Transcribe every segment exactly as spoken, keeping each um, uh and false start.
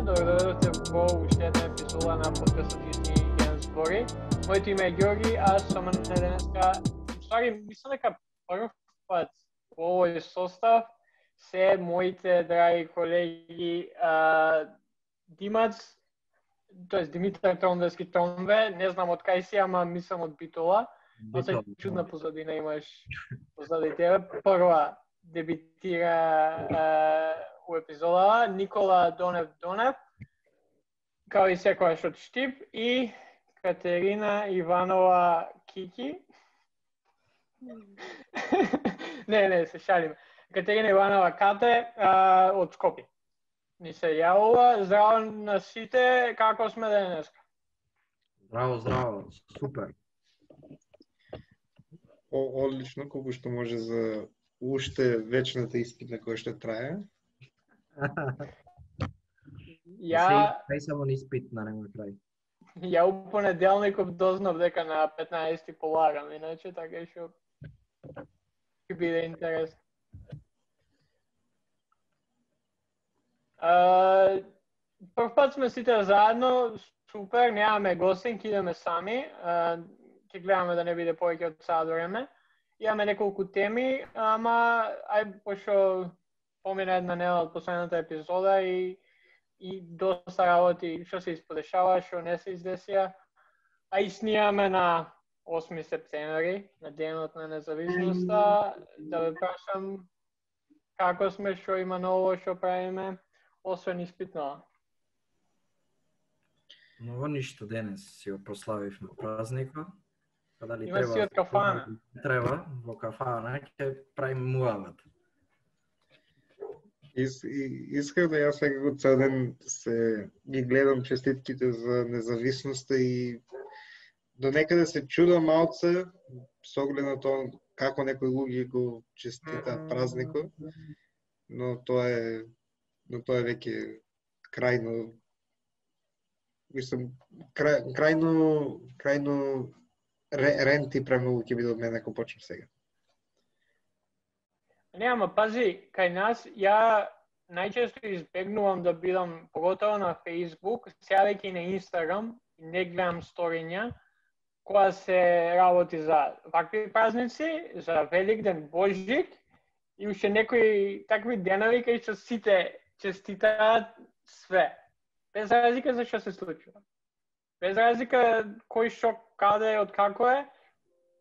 добредојдовте во уште една епизода на подкастот Истини Ген збори. Моето име е Ѓорги, а со мене денеска, ствари, мислам дека прв пат во овој состав се моите драги колеги а, Димац, тоест Димитар Тромвески Тромве, не знам од кај си, ама мислам од Битола. Оце чудна позадина имаш позади тебе. Прва дебитира а, у епизода Никола Донев Донев, као и секојаш од Штип, и Катерина Иванова Кики. не, не, се шалим. Катерина Иванова Кате а, од Скопје. Ни се јавува. Здраво на сите, како сме денеска? Здраво, здраво, супер. О, одлично, колку што може за уште вечната испитна која што трае. Ја Кај само на испит на нема крај. Ја у понеделников дознав дека на петнаесети полагам, иначе така што ќе биде интересно. Uh, прв пат сме сите заедно, супер, немаме гостин, ќе идеме сами, uh, ќе гледаме да не биде повеќе од сад време. Имаме неколку теми, ама ај пошто помина една недела од последната епизода и и доста работи што се исподешава, што не се издесија. А и снимаме на осми септември, на денот на независноста, да ве прашам како сме, што има ново, што правиме, освен испитно. Ново ништо денес си го прославивме празникот. Па дали Има треба? си од кафана. Треба во кафана ќе правиме муават. Ис, искрено јас секако цел ден се ги гледам честитките за независноста и до некаде се чудам малце со оглед на тоа како некои луѓе го честитаат празникот, но тоа е но тоа е веќе крајно мислам крај, крајно крајно ренти премногу ќе биде од мене ако почнам сега. Не, ама пази, кај нас ја најчесто избегнувам да бидам, поготово на Facebook, сега веќе и на Instagram, не гледам сториња, која се работи за вакви празници, за Великден, Божик и уште некои такви денови кај што сите честитаат све. Без разлика за што се случува. Без разлика кој што, каде, од како е,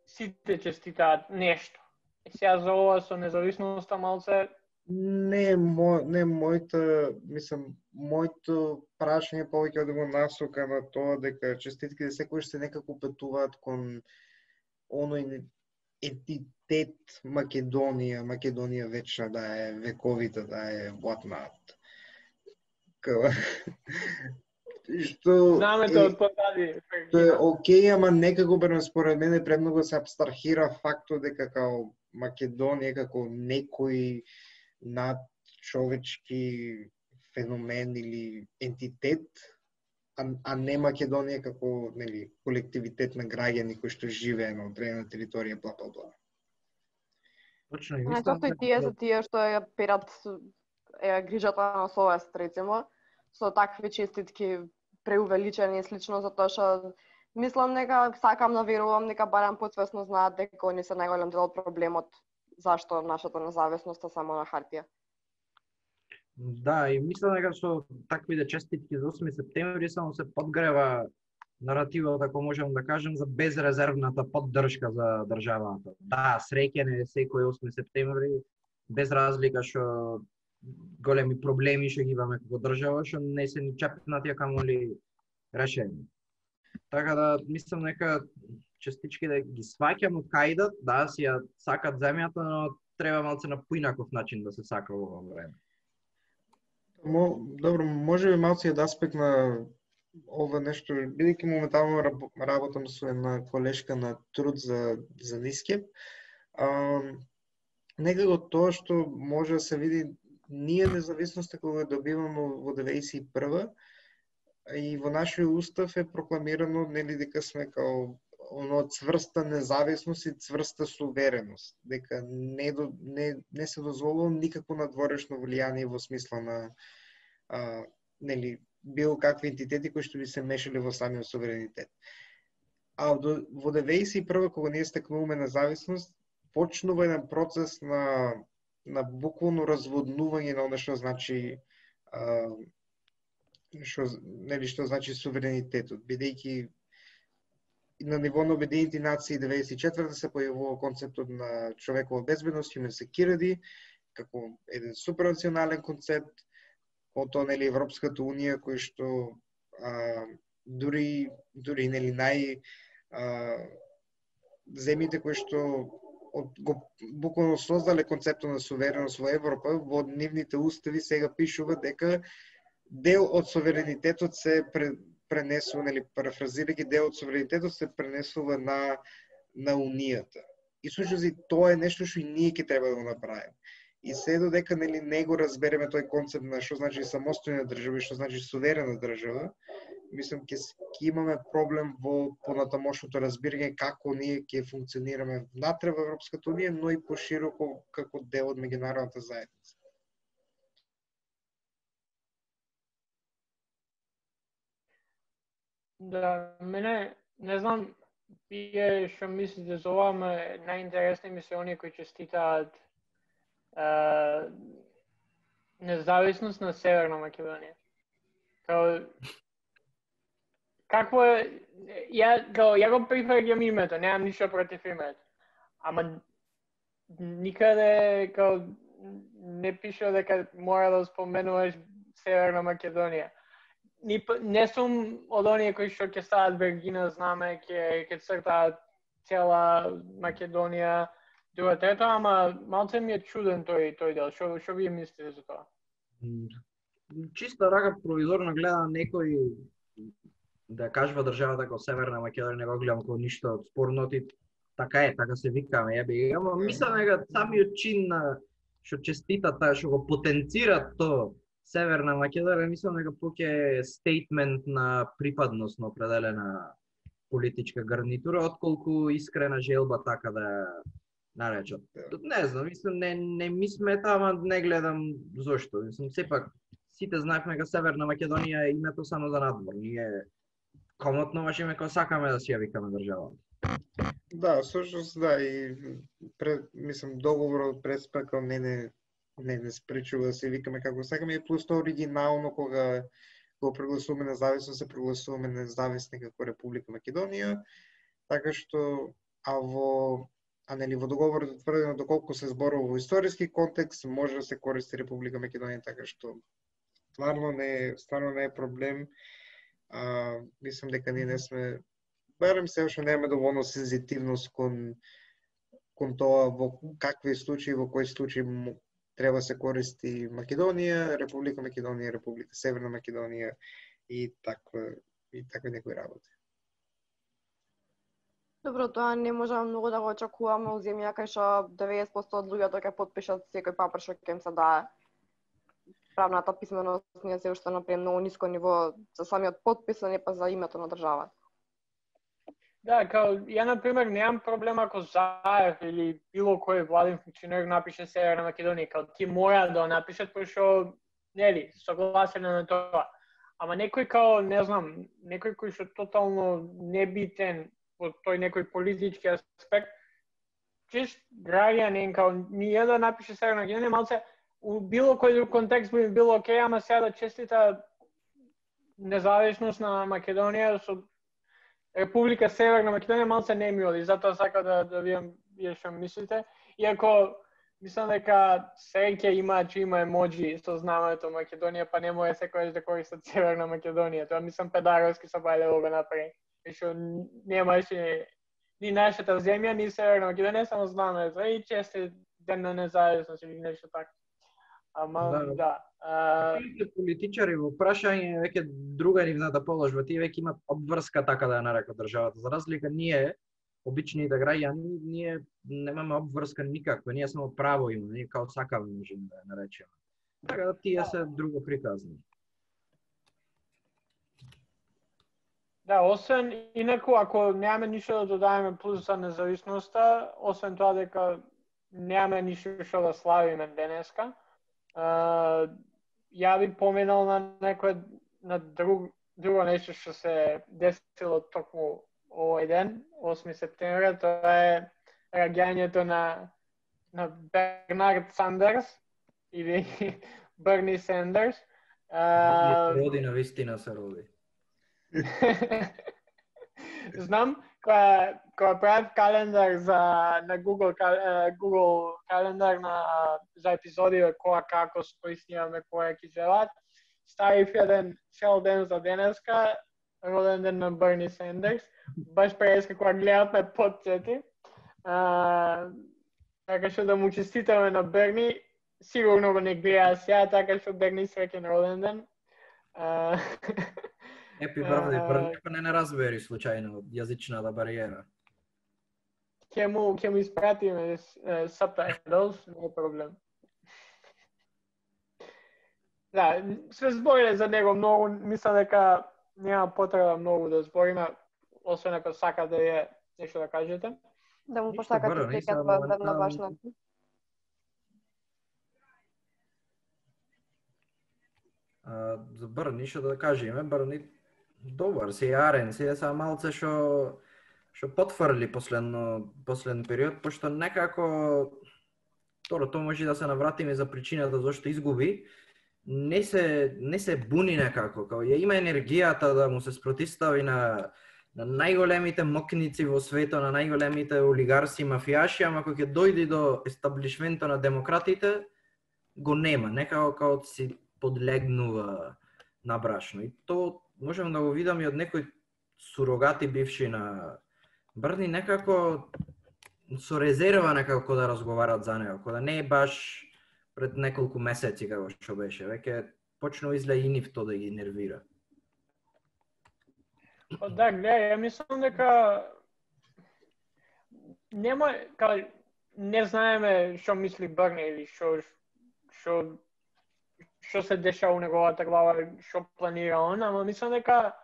сите честитаат нешто. И сега за ова со независноста малце... Не, мо, не мојата, мислам, моето прашање повеќе од го насока на тоа дека честитките секојаш се некако петуваат кон оној ентитет Македонија, Македонија вечна да е, вековите да е, whatnot. Као... Што Знаме тоа од позади. Тоа е окей, ама некако берем според мене премногу се абстрахира фактот дека као Македонија како некој надчовечки феномен или ентитет, а, а не Македонија како нели колективитет на граѓани кои што живее на одредена територија, бла бла бла. Точно и Не, мислам зато и тие за тие што ја перат е грижата на совест, рецимо, со такви честитки преувеличени и слично, затоа што мислам дека сакам да верувам дека барем потсвесно знаат дека они се најголем дел од проблемот зашто нашата независност е само на хартија. Да, и мислам дека со таквите честитки за осми септември само се подгрева наративот, ако можам да кажем, за безрезервната поддршка за државата. Да, среќен е секој осми септември, без разлика што големи проблеми што ги имаме како држава, што не се ни чепнати, а камоли решени. Така да, мислам дека честички да ги сваќам од кајдат, да, си ја сакат земјата, но треба малце на поинаков начин да се сака во ова време. Мо, добро, може би малце од аспект на ова нешто, бидејќи моментално работам со една колешка на труд за, за Нискеп, а, некако тоа што може да се види, ние независноста кога ја добиваме во деветдесет и прва и во нашиот устав е прокламирано нели дека сме као оно цврста независност и цврста сувереност, дека не, не, не се дозволува никакво надворешно влијание во смисла на а, нели било какви entiteti кои што би се мешали во самиот суверенитет. А во деветдесет и прва кога ние стекнуваме независност, почнува еден процес на на буквално разводнување на она што значи а, што нели што значи суверенитетот, бидејќи на ниво на Обединените нации деветдесет и четврта се појавува концептот на човекова безбедност, human security, како еден супернационален концепт, потоа нели Европската унија кој што а, дури дури нели нај а, земјите кои што од го буквално создале концептот на сувереност во Европа, во нивните устави сега пишува дека дел од суверенитетот се пренесува, нели парафразирајќи, дел од суверенитетот се пренесува на на унијата. И всушност тоа е нешто што и ние ќе треба да го направиме. И се додека нели не го разбереме тој концепт на што значи самостојна држава и што значи суверена држава, мислам ќе ќе имаме проблем во понатамошното разбирање како ние ќе функционираме внатре во Европската унија, но и пошироко како дел од меѓународната заедница. Да, мене, не знам, вие што мислите за ова, ама најинтересни ми се оние кои честитаат Uh, независност на Северна Македонија. Као, какво е, ја, као, ја го прифаќам името, немам ништо против името, ама никаде као, не пише дека мора да споменуваш Северна Македонија. Ни, не сум од оние кои што ќе стават Вергина знаме, ќе ќе цртаат цела Македонија, друга трета, ама малце ми е чуден тој тој дел. Што што вие мислите за тоа? Чисто рака провизорно гледа некој да кажува државата како Северна Македонија, не го гледам како ништо спорно, ти така е, така се викаме, јаби. Ама мислам дека самиот чин на што честита таа, што го потенцира тоа Северна Македонија, мислам дека поќе е стейтмент на припадност на определена политичка гарнитура, отколку искрена желба така да наречат. Не знам, мислам, не, не ми смета, ама не гледам зошто. Мислам, сепак, сите знаевме дека Северна Македонија е името само за надвор. Ние комотно машиме кога сакаме да си ја викаме држава. Да, всушност да, и пред, мислам, договорот преспекал не не не не спречува да се викаме како сакаме, и плюс тоа оригинално кога го прогласуваме независност, се прогласуваме независни како Република Македонија, така што а во а нели во договорот е тврдено доколку се зборува во историски контекст, може да се користи Република Македонија, така што стварно не стварно не е проблем. А, мислам дека ние не сме, барем се уште немаме доволно сензитивност кон кон тоа во какви случаи, во кои случаи треба се користи Македонија, Република Македонија, Република Северна Македонија и таква и такви некои работи. Добро, тоа не можеме многу да го очекуваме у земја кај што деветдесет проценти од луѓето ќе потпишат секој папер што ќе им се дае. Правната писменост ние се уште на премногу ниско ниво за самиот потпис, а не па за името на државата. Да, као, ја, например, немам проблем ако Заев или било кој владин функционер напише Северна Македонија, као ти мора да напишат, пошто, нели, согласен на тоа. Ама некој као, не знам, некој кој што тотално небитен во тој некој политички аспект, чист граѓанин, као, ние да напише Северна Македонија, малце, у било кој друг контекст би било окей, ама сега да честита независност на Македонија со Република Северна Македонија, малце не ми оди, затоа сакам да, да видам вие што мислите. Иако, мислам дека среќа има, че има емоджи со знамето Македонија, па не може секој да користат Северна Македонија. Тоа мислам Педаровски со Бајлево го направи. Што немаше ни нашата земја, ни Северна Македонија, само знамето. И чести ден на независност или нешто така. Ама, да. да. А... Политичари во прашање веќе друга нивната положба, тие веќе имат обврска, така да ја нарекат државата. За разлика ние, обичните граѓани, ние немаме обврска никаква, ние само право имаме, ние као сакаме можеме да ја наречеме. Така да тие се друго приказни. Да, освен инаку ако немаме ништо да додадеме плюс за независноста, освен тоа дека немаме ништо што да славиме денеска. Uh, ја би поменал на некоја на друг, друго нешто што се десило токму овој ден, осми септември, тоа е реаѓањето на на Бернард Сандерс или Берни Сандерс. Роди на вистина се роди. Знам, кога кога правев календар за на Google Google календар на за епизоди која како с кои снимаме која ќе желат, ставив еден цел ден за денеска, роден ден на Берни Сандерс. Баш преска кога гледавме потсети. Така што да му честитаме на Берни, сигурно го не гледа сега, така што Берни среќен роден ден. Happy birthday, Берни, па не не разбери случајно јазичната бариера. Ќе му ќе му испратиме subtitles, не е проблем. Да, све збориле за него многу, мислам дека нема потреба многу да збориме, освен ако сака да е нешто да кажете. Да му посакате текат во Берна башна. А, за Берни што да кажеме, Берни добар си јарен си, е само малце што што потврли последно последен период, пошто некако тоа тоа може да се навратиме за причината зашто изгуби, не се не се буни некако, као ја има енергијата да му се спротистави на на најголемите мокници во светот, на најголемите олигарси и мафијаши, ама кога ќе дојде до естаблишментот на демократите, го нема, некако као си подлегнува набрашно. И то можем да го видам и од некои сурогати бивши на Берни, некако со резерва некако да разговарат за него, кога не е баш пред неколку месеци како што беше, веќе почнува изгледа и нив тоа да ги нервира. Па да, гледај, ја мислам дека нема, кај не знаеме што мисли Берни или што што што се дешава у неговата глава, што планира он, ама мислам дека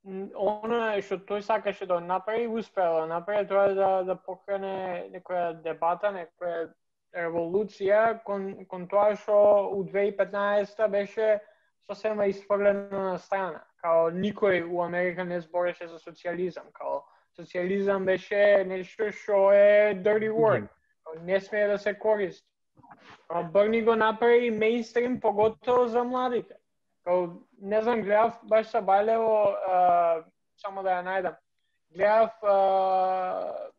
она што тој сакаше да направи, успеа да направи, тоа е да да покрене некоја дебата, некоја револуција кон кон тоа што у две илјади и петнаесетта беше сосема isfрлено на страна. Као никој у Америка не збореше за социјализам, као социјализам беше нешто што е dirty word, не смее да се користи. А Берни го направи мејнстрим, поготово за младите. Као, не знам, гледав баш са Бајлево, само да ја најдам, гледав а,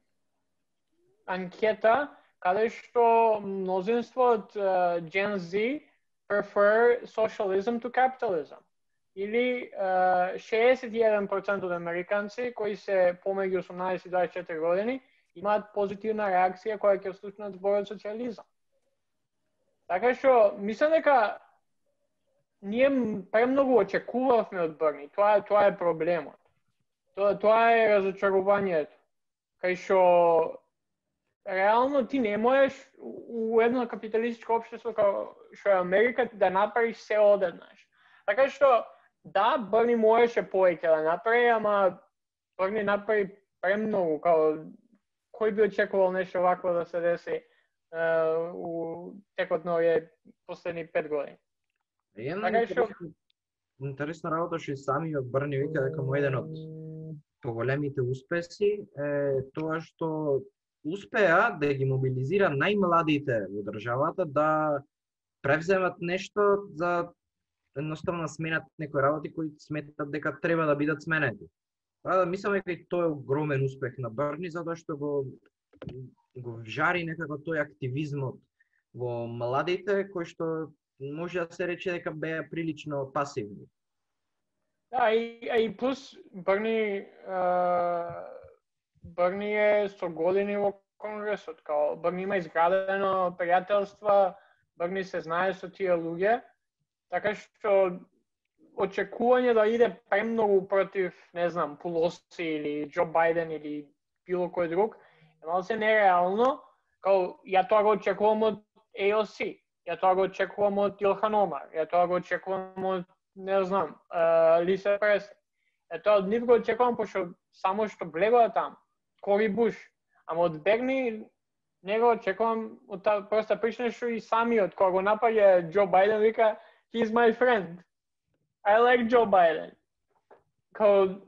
анкета каде што мнозинство од uh, Gen Z prefer socialism to capitalism. Или uh, шеесет и еден процент од американци кои се помеѓу осумнаесет и дваесет и четири години имаат позитивна реакција која ќе слушнат зборот социјализам. Така што мислам дека ние премногу очекувавме од Берни. Тоа тоа е проблемот. Тоа тоа е разочарувањето. Кај што реално ти не можеш у едно капиталистичко општество како што е Америка да направиш се одеднаш. Така што да, Берни можеше повеќе да направи, ама Берни направи премногу, као кој би очекувал нешто вакво да се деси uh, у текот на овие последни пет години. Една така што интересна работа што и самиот Берни вика дека му еден од поголемите успеси е тоа што успеа да ги мобилизира најмладите во државата да превземат нешто за едноставно сменат некои работи кои сметат дека треба да бидат сменети. Па да мислам дека и тоа е огромен успех на Берни затоа што го го жари некако тој активизмот во младите кои што може да се рече дека беа прилично пасивни. Да, и, и плюс Берни Берни е со години во Конгресот, као Берни има изградено пријателства, Берни се знае со тие луѓе, така што очекување да иде премногу против, не знам, Пелоси или Џо Бајден или било кој друг, е малце нереално, као ја тоа го очекувам од А О Си, ја тоа го очекувам од Илхан Омар, ја тоа го очекувам од, не знам, Лиса Прес. Е тоа од нив го очекувам, пошто само што влегува там, Кори Буш, ама од Берни не го очекувам од таа проста причина што и самиот кога го напаѓа Џо Бајден вика he's my friend. I like Joe Biden. Као,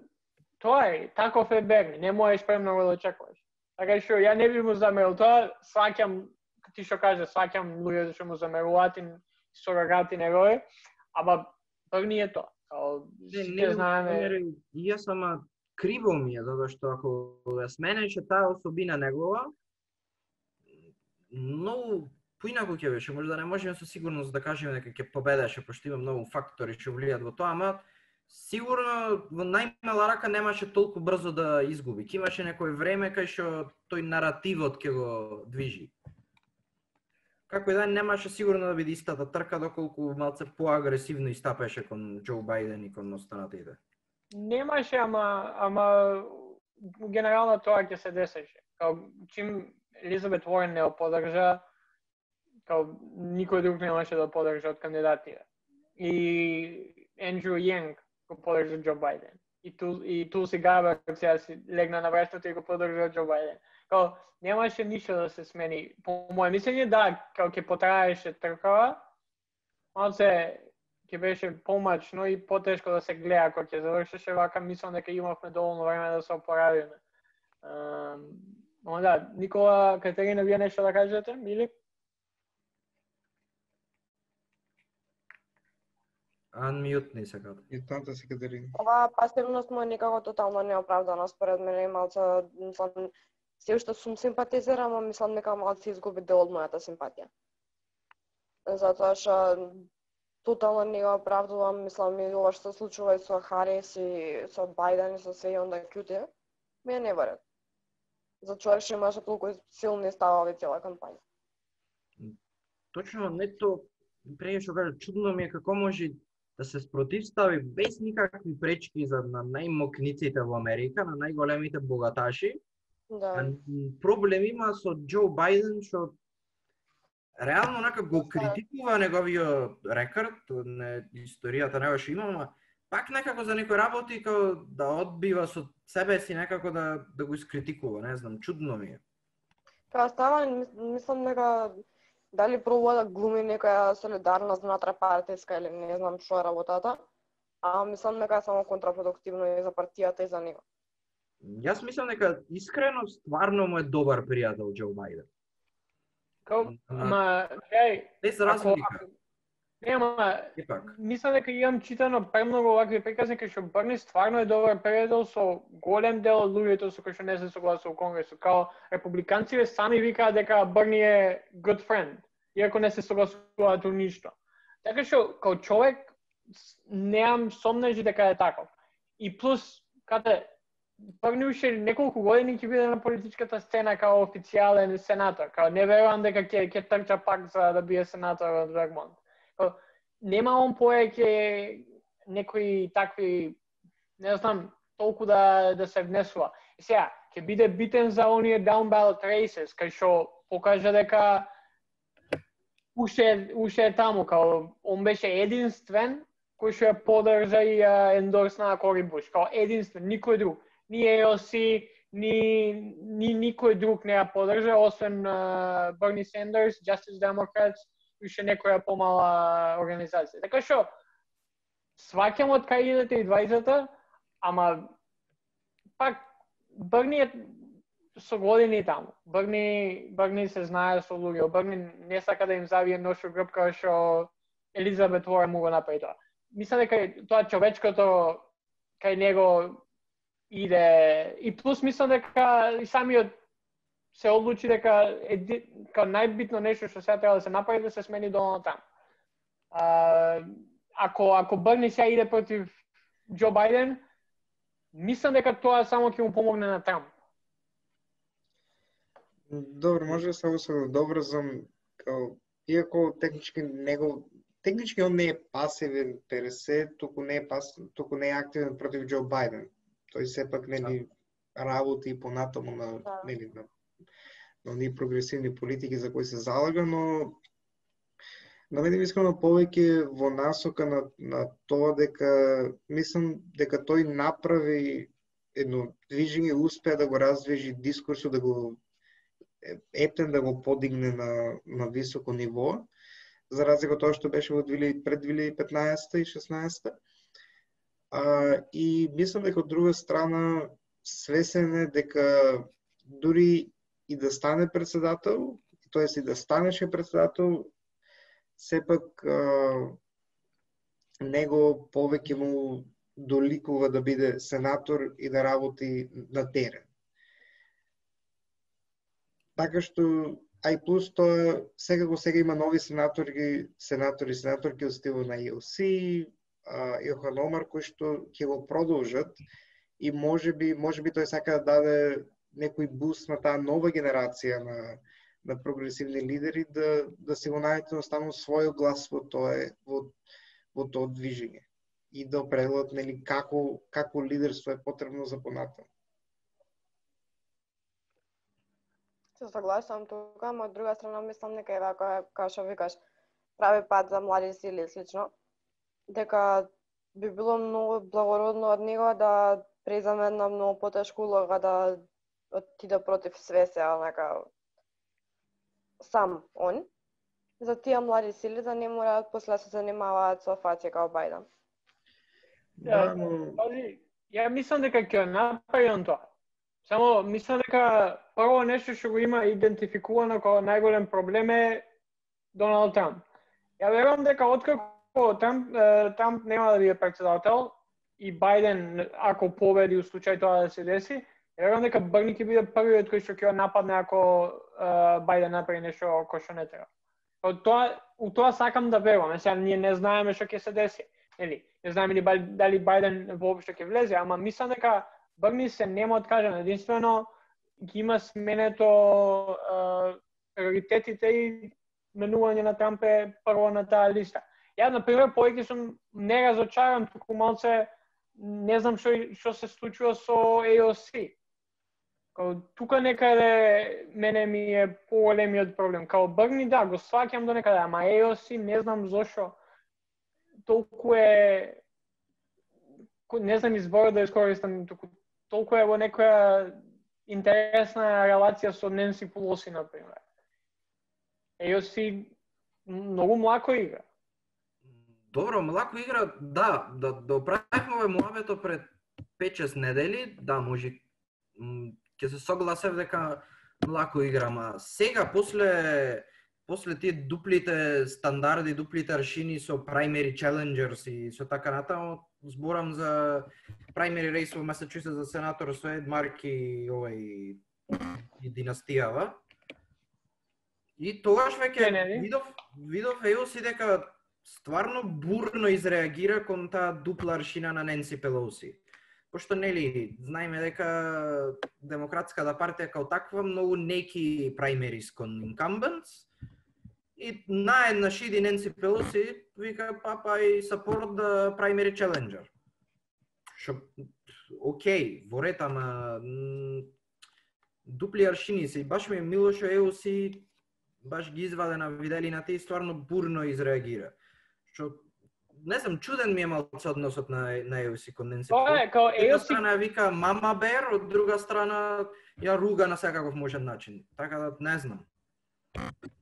тоа е, таков е Берни, не можеш премногу да очекуваш. Така што ја не би му замерил тоа, сваќам, ти што каже, сваќам луѓето што му замеруваат и сурогати негови, ама Берни е тоа. Као, сите знаеме... И јас сама криво ми е, затоа што ако ја сменеше таа особина негова, многу поинаку ќе беше, може да не можеме со сигурност да кажеме дека ќе победеше, пошто има многу фактори што влијат во тоа, ама сигурно во најмала рака немаше толку брзо да изгуби. Ке имаше некој време кај што тој наративот ќе го движи. Како и да немаше сигурно да биде истата трка доколку малце поагресивно истапеше кон Џо Бајден и кон останатите. Немаше, ама ама генерално тоа ќе се десеше. Као чим Елизабет Уорен не го поддржа, као никој друг немаше да поддржа од кандидатите. И Ендрю Јенг го поддржа Џо Бајден. И ту и Тулси Габард сега си легна на враќето и го поддржа Џо Бајден. Као немаше ништо да се смени. По моје мислење да, као ќе потраеше тркава, малце ќе беше помачно и потешко да се гледа кога ќе завршеше, вака мислам дека имавме доволно време да се опоравиме. Но да, Никола, Катерина, вие нешто да кажете, или? Unmute сега. И танта се Катерина. Ова пасивност му е никако тотално неоправдана според мене, малце, мислам, се уште сум симпатизирам, ама мислам дека малце изгуби дел од мојата симпатија. Затоа што тотално не го оправдувам, мислам, и ова што се случува и со Харис и со Бајден и со се и онда кјуте, ми е неверојатно. За човек што имаше толку силни ставови цела кампања. Точно, не то, преќе што кажа, чудно ми е како може да се спротивстави без никакви пречки за на најмокниците во Америка, на најголемите богаташи. Да. Проблем има со Џо Бајден што реално онака го критикува неговиот рекорд, не историјата него што има, пак некако за некои работи како да одбива со себе си некако да да го искритикува, не знам, чудно ми е. Кога става, мислам дека дали пробува да глуми некоја солидарност внатре партиска или не знам што е работата, а мислам дека е само контрапродуктивно и за партијата и за него. Јас мислам дека искрено стварно му е добар пријател Џо Бајден. Као, ама, еј, без разлика. Нема, мислам дека имам читано премногу овакви приказни кај што Берни стварно е добар пријател со голем дел од луѓето со кои што не се согласува во Конгресот. Као републиканците сами викаат дека Берни е good friend, иако не се согласуваат у ништо. Така што као човек неам сомнежи дека е таков. И плюс кате Берни уште неколку години ќе биде на политичката сцена као официјален сенатор. Као не верувам дека ќе ќе трча пак за да биде сенатор од Вермонт. Нема он повеќе некои такви, не знам, толку да да се внесува. И сега, ќе биде битен за оние down ballot races, кај што покажа дека уште уште е таму, као он беше единствен кој што ја поддржа и ја ендорсна Кори Буш, као единствен, никој друг. Ни Ей О Си, ни ни никој друг не ја поддржа, освен Берни Сандерс, Justice Democrats, уште некоја помала организација. Така што сваќам од кај идете и двајцата, ама пак Берни е со години таму. Берни Берни се знае со луѓе. Берни не сака да им завие нош у грб како што Елизабет Уорен му го направи тоа. Мислам дека тоа човечкото кај него иде и плюс мислам дека и самиот се одлучи дека еди, као најбитно нешто што сега треба да се направи да се смени Доналд Трамп. А, ако ако Берни сега иде против Џо Бајден, мислам дека тоа само ќе му помогне на Трамп. Добро, може само се добрзам, као иако технички него технички он не е пасивен пересе, туку не е пас, туку не е активен против Џо Бајден. Тој сепак нели работи и понатаму на нели на на оние прогресивни политики за кои се залага, но на мене искрено повеќе во насока на, на тоа дека мислам дека тој направи едно движење, успеа да го раздвижи дискурсот, да го ептен да го подигне на, на високо ниво, за разлика од тоа што беше во пред две илјади и петнаесетта и шеснаесетта. А, и мислам дека од друга страна свесен е дека дури и да стане председател, тоест и да станеше председател, сепак а, него повеќе му доликува да биде сенатор и да работи на терен. Така што, а и плюс тоа, секако сега има нови сенатори, сенатори, сенаторки од стилот на Ел Си, Илхан Омар, кои што ќе го продолжат и можеби, можеби тој сака да даде некој буст на таа нова генерација на, на прогресивни лидери да, да се го најдат едноставно својот глас во тоа, во, во тоа движење и да определат нели како како лидерство е потребно за понатаму. Се согласувам тука, но од друга страна мислам дека е вака, како што викаш, прави пат за млади сили и слично, дека би било многу благородно од него да преземе една многу потешка улога да отиде против свесе, нека сам он, за тие млади сили да не мораат после да се занимаваат со фаци као Бајден. Да, но... Ја мислам дека ќе направи он тоа. Само мислам дека прво нешто што го има идентификувано како најголем проблем е Доналд Трамп. Ја верувам дека откако Трамп, Трамп нема да биде председател и Бајден ако победи у случај тоа да се деси, ја верувам дека Берни ќе биде првиот кој што ќе нападне ако Бајден направи нешто кој што не треба. Тоа, у тоа сакам да верувам. Сега ние не знаеме што ќе се деси. Нели? Не знаеме ли дали Бајден воопшто ќе влезе, ама мислам дека Берни се нема откажан. Единствено ги има сменето приоритетите и менување на Трамп е прво на таа листа. Ја, например, повеќе сум не разочаран, туку малце не знам што што се случува со Ей О Си. Као тука некаде мене ми е поголемиот проблем. Као Берни да, го сваќам до некаде, ама Ей О Си не знам зошто толку е, не знам избора да искористам, толку е во некоја интересна релација со Ненси Пелоси, например. Ей О Си многу млако игра. Добро, млако игра, да, да, да оправихме овој муабето пред пет-шест недели, да, може, ќе се согласев дека млако игра, ма сега, после после тие дуплите стандарди, дуплите аршини со primary challengers и со така натаму, зборам за primary race во Масачусетс за сенатор со Ед Марк и овој и династијава. И тогаш веќе видов видов Ей О Си дека стварно бурно изреагира кон таа дупла аршина на Ненси Пелоси. Пошто нели знаеме дека Демократската партија као таква многу неки primaries кон incumbents. И наеднаш иди Ненси Пелоси вика папа и support the primary challenger. Шо окей, во ред, ама дупли аршини се и баш ми е мило што Ей О Си баш ги изваде на виделината и стварно бурно изреагира. Што не знам, чуден ми е малку односот на на Ей О Си кон Ненси Пелоси. Тоа е као Ей О Си страна вика мама бер, од друга страна ја руга на секаков можен начин. Така да не знам.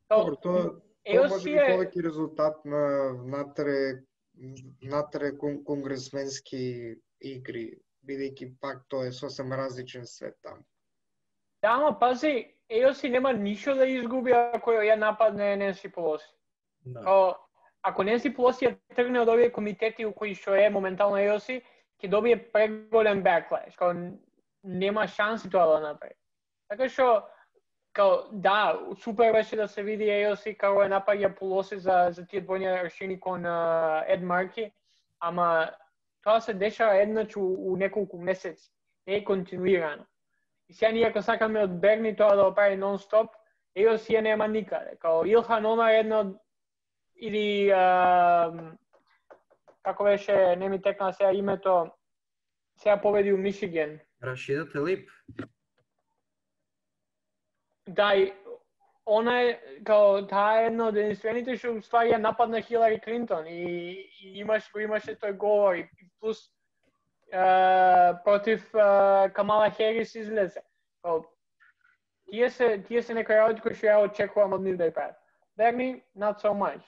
Добро, тоа Ей О може Си би е повеќе резултат на внатре внатре кон, конгресменски игри, бидејќи пак тоа е сосем различен свет таму. Да, ама пази, Ей О Си нема ништо да изгуби ако ја нападне Ненси Пелоси. Да. Као, ако Ненси Пелоси ја тргне од овие комитети у кои што е моментално Ей О Си, ќе добие преголем беклеш. Као, нема шанси тоа да направи. Така што, као, да, супер беше да се види Ей О Си како е напаѓа Пелоси за, за тие двојни аршини кон uh, Ед Марки, ама тоа се дешава еднаш у, у неколку месеци, не е континуирано. И сега ние ако сакаме од Берни тоа да оправи нон-стоп, Ей О Си ја нема никаде. Као Илхан Омар едно или uh, како беше, не ми текна сега името, сега победи у Мишиген. Рашида Телип. Да, и она е, као, таа е едно од единствените што ствари ја нападна Хилари Клинтон и, и имаш, го имаше тој говор и плюс uh, против uh, Камала Херис излезе. Као, тие се, тие се некои работи кои што ја очекувам од нив да ја прават. Берни, not so much.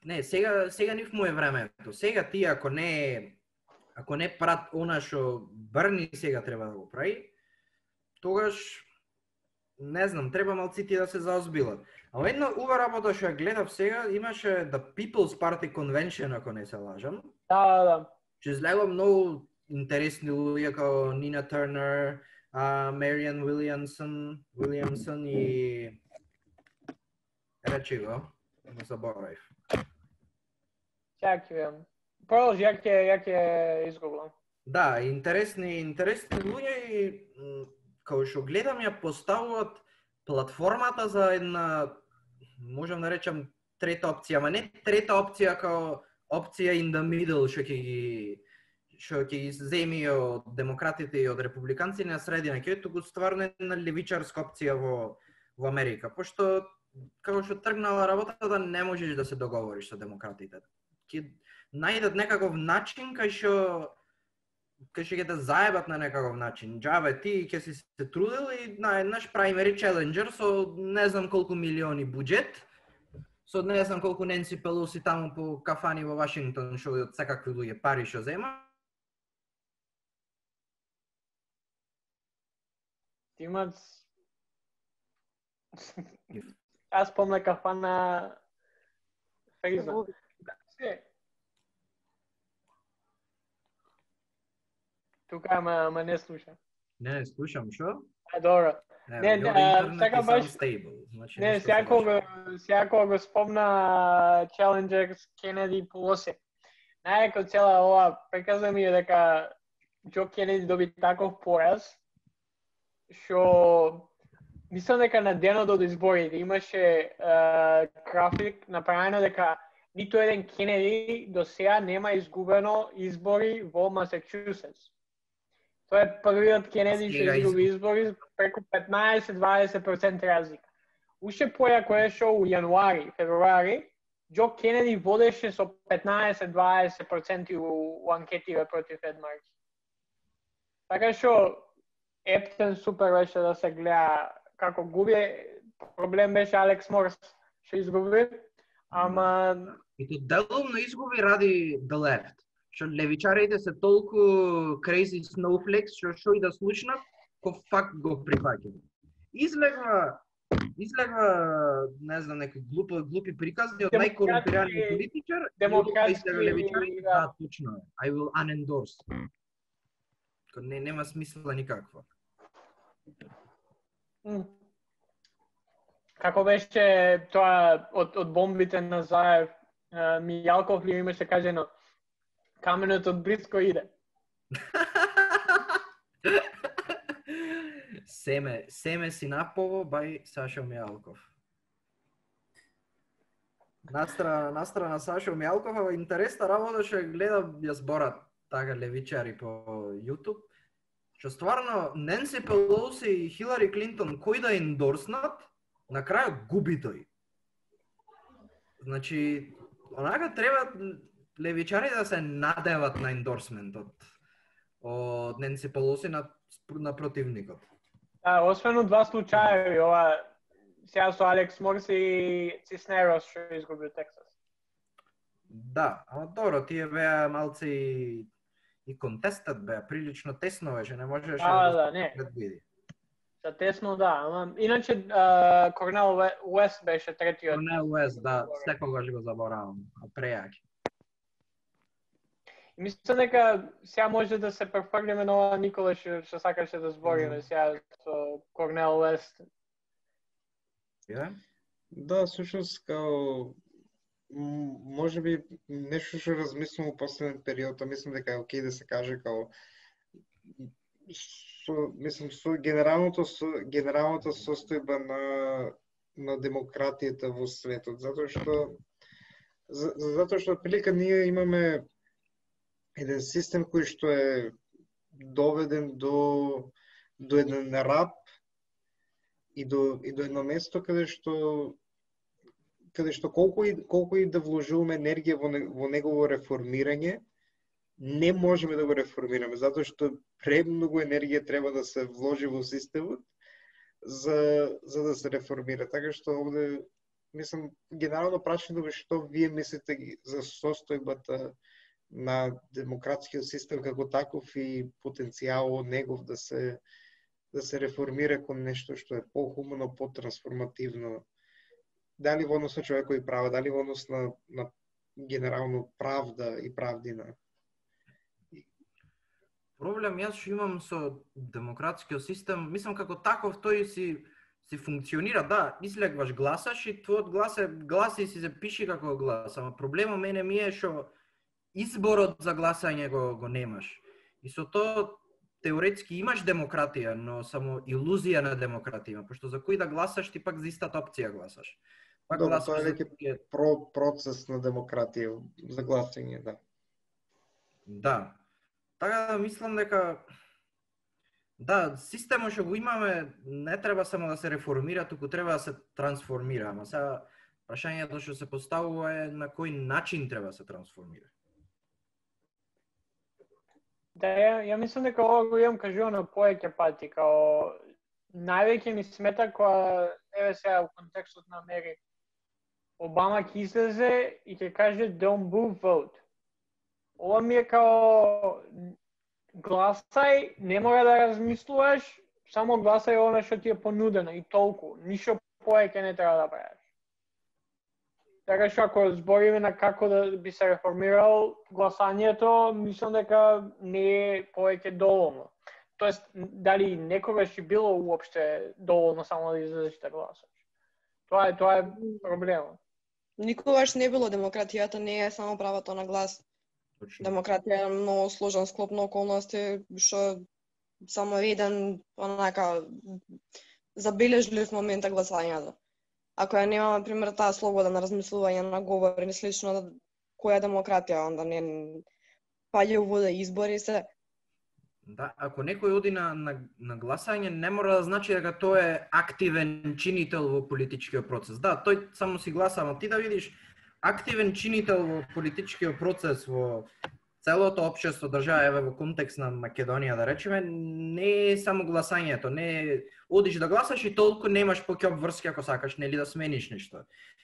Не, сега сега нив му е времето. Сега ти ако не ако не прат она што Брни сега треба да го прави, тогаш не знам, треба малците да се заозбилат. А една убава работа што ја гледав сега, имаше The People's Party Convention, ако не се лажам. Да, да, да. Че излегло многу интересни луѓе како Нина Турнер, а, Мариан Уилиамсон, Уилиамсон и речи го, не заборавив. Чакай, продолжи, ја ќе ја ќе изгуглам. Да, интересни, интересни луѓе и као што гледам ја поставуваат платформата за една, можам да речам, трета опција, ама не трета опција као опција in the middle што ќе ги што ќе ги земи од демократите и од републиканци на средина, ќе туку стварно една левичарска опција во во Америка, пошто како што тргнала работата не можеш да се договориш со демократите. Ќе најдат некаков начин кај што кај што ќе те заебат на некаков начин. Џабе ти ќе си се трудил и наеднаш primary challenger со не знам колку милиони буџет, со не знам колку Ненси Пелоси таму по кафани во Вашингтон што од секакви луѓе пари што зема. Имат Аз помня кафана Фриза. Тука, ама, ама не слуша. Не, слушам, шо? А, добро. Не, не, сега баш... Значи, не, сјако го, сјако го спомна Challengers Кенеди Пелоси. Најако цела ова приказа ми е дека Џо Кенеди доби таков пораз, што мислам дека на денот од изборите имаше uh, график направено дека ниту еден Кенеди до сега нема изгубено избори во Масачусетс. Тоа е првиот Кенеди што изгуби избори преку петнаесет до дваесет проценти разлика. Уште појако е што у јануари, февруари, Џо Кенеди водеше со петнаесет до дваесет проценти у, у анкетиве против Ед Маркис. Така што Ептен супер беше да се гледа како губи, проблем беше Алекс Морс што изгуби, ама... И то делумно изгуби ради the left, што левичарите се толку crazy snowflakes, што што и да случнат, ко факт го прифаќаат. Излегва, излегва, не знам, некои глупи, глупи приказни од најкорумпирани политичар, демократски левичари, да, точно е. I will unendorse. Не, нема смисла никаква. Mm. Како беше тоа од, од бомбите на Заев, Мијалков ли имаше кажено, каменот од близко иде. Семе, семе Синапово бај Сашо Мијалков. Настра, настра на Сашо Мијалков, интересна работа што гледам ја зборат така левичари по YouTube, што стварно Ненси Пелоси и Хилари Клинтон кој да ендорснат, на крај губи тој. Значи, онака треба левичари да се надеват на ендорсментот од Ненси Пелоси на, на противникот. Да, освен два случаи, ова сега со Алекс Морс и Циснерос што изгуби Тексас. Да, ама добро, тие беа малци и, и контестат беа прилично тесно беше, не можеше да, да, не. предвиди. За тесно, да, ама иначе Корнел Уест беше третиот. Корнел Уест, да, секогаш го заборавам, а прејаки. Мислам дека сега може да се префрлиме на ова Никола што, што сакаше да збориме сега со Корнел Уест. Yeah? Да, сушност као може би нешто што размислам во последен период, а мислам дека е окей да се каже као со, мислам со генералното со, генералната состојба на на демократијата во светот, затоа што за, затоа што прилика ние имаме еден систем кој што е доведен до до еден раб и до и до едно место каде што каде што колку и колку и да вложуваме енергија во, не, во негово реформирање, не можеме да го реформираме затоа што премногу енергија треба да се вложи во системот за за да се реформира. Така што овде мислам, генерално прашањето е што вие мислите за состојбата на демократскиот систем како таков и потенцијалот негов да се да се реформира кон нешто што е по-хумано, по-трансформативно. Дали во однос на човекови права, дали во однос на, на генерално правда и правдина. Проблем јас што имам со демократскиот систем, мислам како таков тој си си функционира, да, излегваш гласаш и твојот глас е глас и си се пиши како глас, ама проблемот мене ми е што изборот за гласање го, го немаш. И со тоа теоретски имаш демократија, но само илузија на демократија, пошто за кој да гласаш ти пак за истата опција гласаш. Пак Добро, гласаш тоа е за веќе про процес на демократија за гласање, да. Да. Така да мислам дека да, системот што го имаме не треба само да се реформира, туку треба да се трансформира. Ама сега прашањето што се поставува е на кој начин треба да се трансформира. Да, ја, ја мислам дека ова го имам кажувано повеќе пати, као највеќе ми смета кога, еве сега во контекстот на Америка, Обама ќе излезе и ќе каже don't move vote. Ова ми е као гласај, не мора да размислуваш, само гласај она што ти е понудено и толку, ништо повеќе не треба да правиш. Така што ако збориме на како да би се реформирал гласањето, мислам дека не е повеќе доволно. Тоест, дали некогаш и било уопште доволно само да излезеш да гласаш. Тоа е, тоа е проблемот. Никогаш не било, демократијата не е само правото на глас. Точно. Демократија е многу сложен склоп на околности, што само еден онака забележлив момент е гласањето. Ако ја немаме, пример, таа слобода на размислување, на говор и слично, која е демократија, онда не паѓа во вода избори се. Да, ако некој оди на, на, на гласање, не мора да значи дека тој е активен чинител во политичкиот процес. Да, тој само си гласа, ама ти да видиш активен чинител во политичкиот процес во целото општество, држава, еве во контекст на Македонија да речеме, не е само гласањето, не е одиш да гласаш и толку немаш поќе обврски ако сакаш, нели да смениш нешто.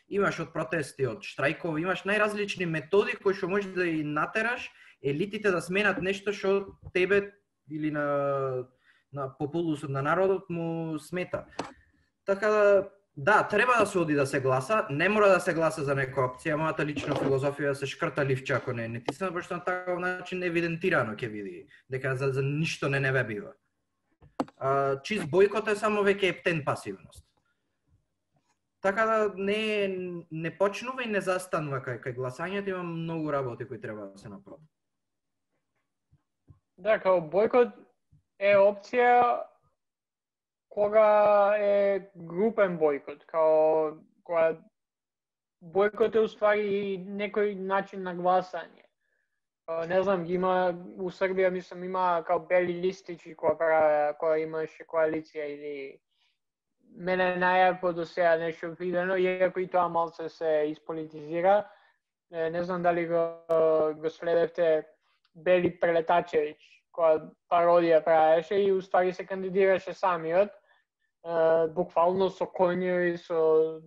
Имаш од протести, од штрајкови, имаш најразлични методи кои што можеш да и натераш елитите да сменат нешто што тебе или на на популусот на народот му смета. Така да да, треба да се оди да се гласа, не мора да се гласа за некоја опција, мојата лична филозофија да се шкрта ливче ако не не тисна, пошто на таков начин евидентирано ќе види дека за, за ништо не не ве бива. А, чист бојкот е само веќе ептен пасивност. Така да не не почнува и не застанува кај кај гласањето, има многу работи кои треба да се направат. Да, као бојкот е опција кога е групен бојкот, као кога бојкот е уствари некој начин на гласање. Не знам, има у Србија, мислам, има као бели листичи кога праве, кога имаше коалиција или мене најако до сега нешто видено, иако и тоа малце се исполитизира. Не знам дали го, го следевте Бели Прелетачевиќ, која пародија правеше и уствари се кандидираше самиот, буквално со коњи, со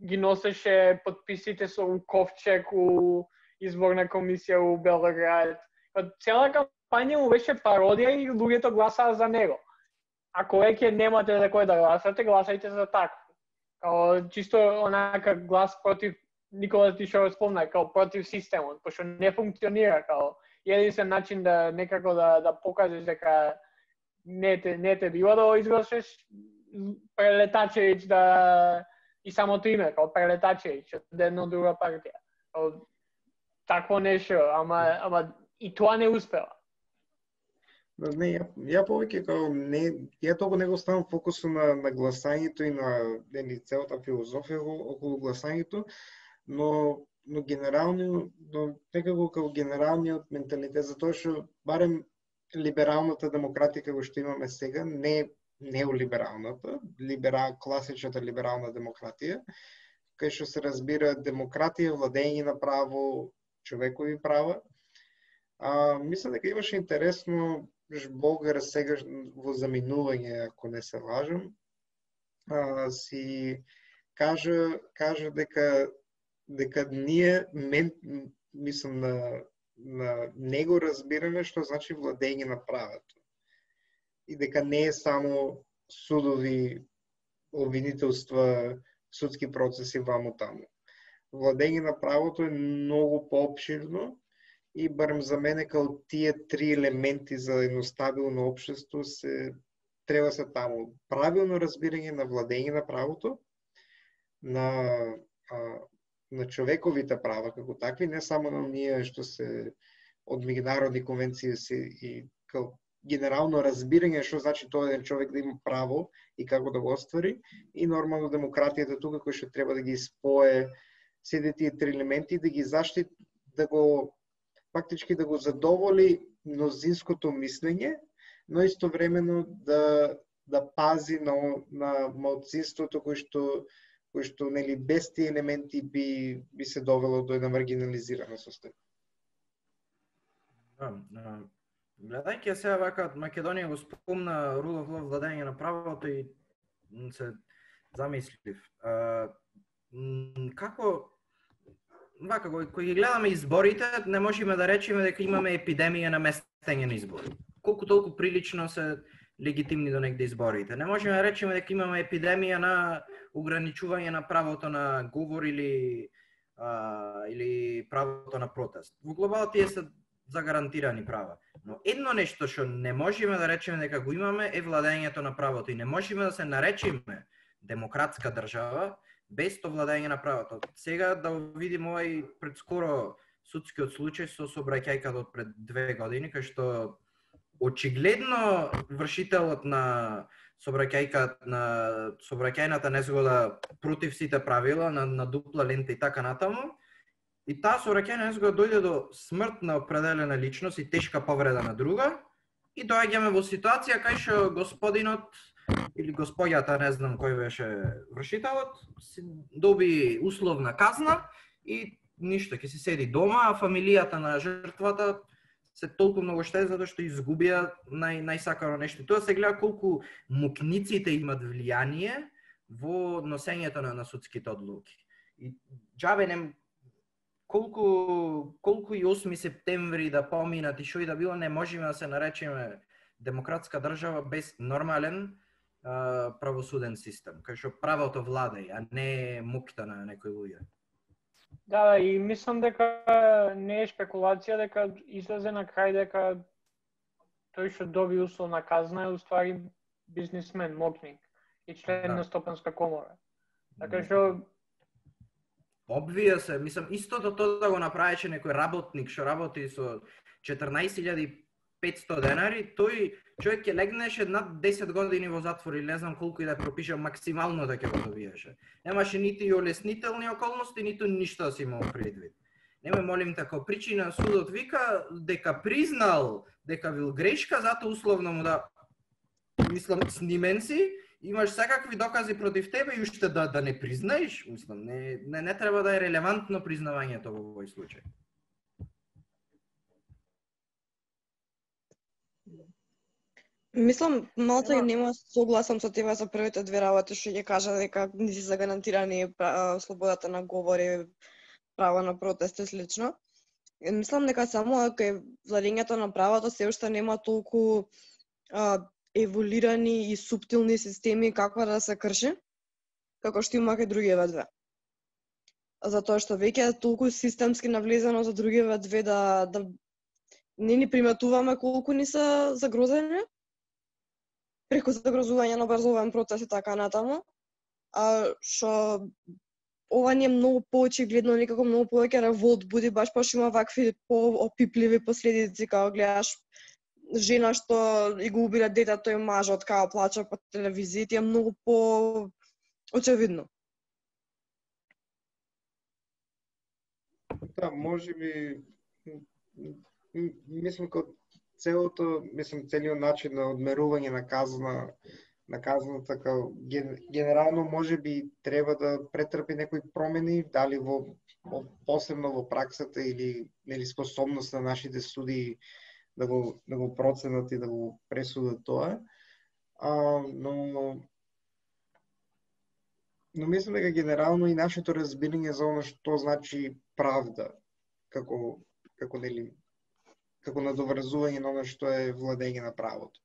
ги носеше подписите со у ковчег у изборна комисија у Белград. Цела кампања му беше пародија и луѓето гласаа за него. Ако веќе немате за кој да гласате, гласајте за такви. Као чисто онака глас против, Никола ти што спомна, као против системот, пошто не функционира, као единствен начин да некако да да покажеш дека не те не те бива да изгласаш Прелетачевиќ да и самото име, као Прелетачевиќ од една друга партија. Као такво нешто, ама ама и тоа не успева. Не, ја, ја повеќе као не, ја толку не го ставам фокусу на на гласањето и на нели целата филозофија околу гласањето, но но генерално, но некако како генералниот менталитет, затоа што барем либералната демократија како што имаме сега, не неолибералната, либерал, класичната либерална демократија, кај што се разбира демократија, владење на право, човекови права. А, мислам дека имаше интересно жбогар сега во заминување, ако не се лажам, а, си кажа кажа дека дека ние мен мислам на на него разбираме што значи владење на правото. И дека не е само судови, обвинителства, судски процеси ваму таму. Владење на правото е многу поопширно и барем за мене као тие три елементи за едно стабилно општество се треба се таму. Правилно разбирање на владење на правото, на а, на човековите права како такви, не само на ние што се од меѓународни конвенции се и као генерално разбирање што значи тоа еден човек да има право и како да го оствари, и нормално демократијата тука кој што треба да ги спое сите тие три елементи, да ги заштити, да го фактички да го задоволи мнозинското мислење, но истовремено да да пази на на малцинството кој што кој што нели без тие елементи би би се довело до една маргинализирана состојба. Да, да. Гледајќи сега вака Македонија го спомна rule of law, владење на правото, и се замислив. А, како вака кога ги гледаме изборите, не можеме да речеме дека имаме епидемија на местење на избори. Колку толку прилично се легитимни до негде изборите. Не можеме да речеме дека имаме епидемија на ограничување на правото на говор или а, или правото на протест. Во глобал тие се загарантирани права. Но едно нешто што не можеме да речеме дека го имаме е владењето на правото, и не можеме да се наречеме демократска држава без то владење на правото. Сега да видим овај предскоро судскиот случај со сообраќајката од пред две години, кај што очигледно вршителот на сообраќајка на сообраќајната незгода против сите правила на, на дупла лента и така натаму, и таа сообраќајна незгода дојде до смрт на определена личност и тешка повреда на друга, и доаѓаме во ситуација кај што господинот или господјата, не знам кој беше вршителот, доби условна казна и ништо, ќе си седи дома, а фамилијата на жртвата се толку многу штеди затоа што изгубија нај најсакано нешто. Тоа се гледа колку мукниците имат влијание во носењето на, на судските одлуки. И џабе не колку колку и осми септември да поминат и што и да било, не можеме да се наречеме демократска држава без нормален а, правосуден систем, кај што правото владе, а не мукта на некои луѓе. Да, и мислам дека не е спекулација, дека излезе на крај дека тој што доби условна казна е уствари бизнисмен, мокник и член да. на стопанска комора. Така што обвија се, мислам, истото тоа да го направеше некој работник што работи со четрнаесет илјади и петсто денари, тој човек ќе легнеше над десет години во затвор или не знам колку и да пропише максимално да ќе го добиеше. Немаше нити и олеснителни околности, ниту ништо да си имал предвид. Неме молим тако причина судот вика дека признал дека бил грешка, затоа условно му да мислам снимен си, имаш секакви докази против тебе и уште да да не признаеш, мислам, не не, не треба да е релевантно признавањето во овој случај. Мислам, малку и нема согласам со тебе за првите две работи што ќе кажа дека не си загарантирани слободата на говор и право на протест и слично. Мислам дека само ако е владењето на правото се уште нема толку а, еволирани и суптилни системи како да се крши, како што има кај другиве две. Затоа што веќе е толку системски навлезено за другиве две да, да не ни приметуваме колку ни се загрозени преку загрозување на образовен процес и така натаму, а што ова не е многу поочигледно, некако многу повеќе револт буди баш пошто има вакви поопипливи последици, како гледаш жена што и го убира детето и мажот као плача по телевизија, е многу по очевидно. Да, можеби мислам како целото, мислам целиот начин на одмерување на казна на казната како ген, генерално можеби треба да претрпи некои промени, дали во, во посебно во праксата или нели способност на нашите судии да го да го проценат и да го пресудат тоа. А, но Но мислам дека генерално и нашето разбирање за оно што значи правда, како како нели како надоврзување на оно што е владење на правото.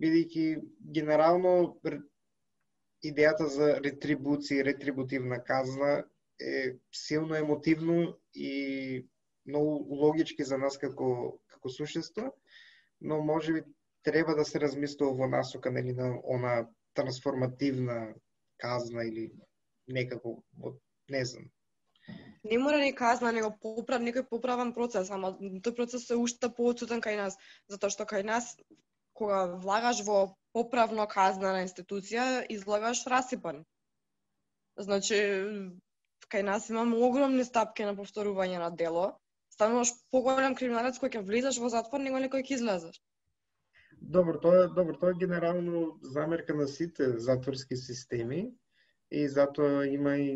Бидејќи генерално идејата за ретрибуција, ретрибутивна казна е силно емотивно и многу логички за нас како како суштество, но можеби треба да се размислува во насока нели на она трансформативна казна или некако, не знам. Не мора ни казна, него поправ, некој поправен процес, ама тој процес е уште поотсутен кај нас, затоа што кај нас кога влагаш во поправно казнена институција, излагаш расипан. Значи, кај нас имаме огромни стапки на повторување на дело, стануваш поголем криминалец кој ќе влизаш во затвор, него некој ќе излезеш. Добро, тоа е добро, тоа е генерално замерка на сите затворски системи и затоа има и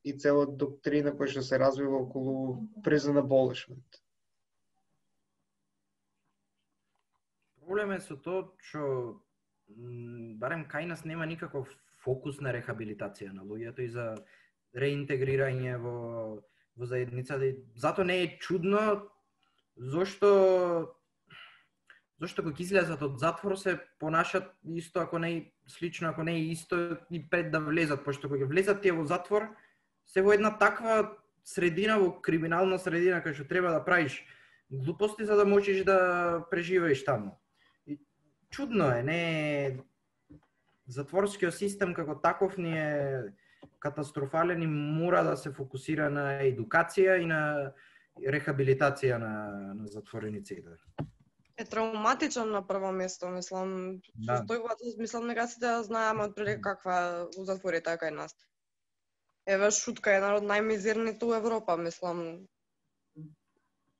и цела доктрина која што се развива околу prison abolishment. Проблем е со тоа што барем кај нас нема никаков фокус на рехабилитација на луѓето и за реинтегрирање во во заедницата. Затоа не е чудно зошто зошто кога излезат од затвор се понашат исто, ако не и слично, ако не и исто и пред да влезат, пошто кога влезат тие во затвор се во една таква средина, во криминална средина, кај што треба да правиш глупости за да можеш да преживееш таму. И чудно е, не затворскиот систем како таков ни е катастрофален и мора да се фокусира на едукација и на рехабилитација на, на затворениците. Е травматичен на прво место, мислам. Да. Состојбата, мислам, нека сите да знаеме отприлика каква у затворите кај нас. Еве шутка, една од најмизерните у Европа, мислам.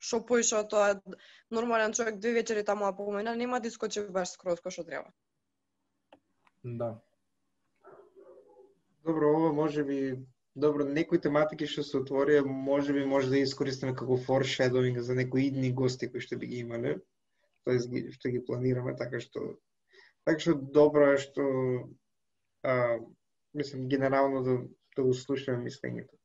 Шо поише од тоа, нормален човек две вечери таму а помина, нема да искочи баш скроз кој што треба. Да. Добро, ова може би, добро, некои тематики што се отворија, може би може да искористиме како foreshadowing за некои идни гости кои што би ги имале. Тоест што ги планираме, така што така што добро е што а, мислам генерално да да го слушаме мислењето.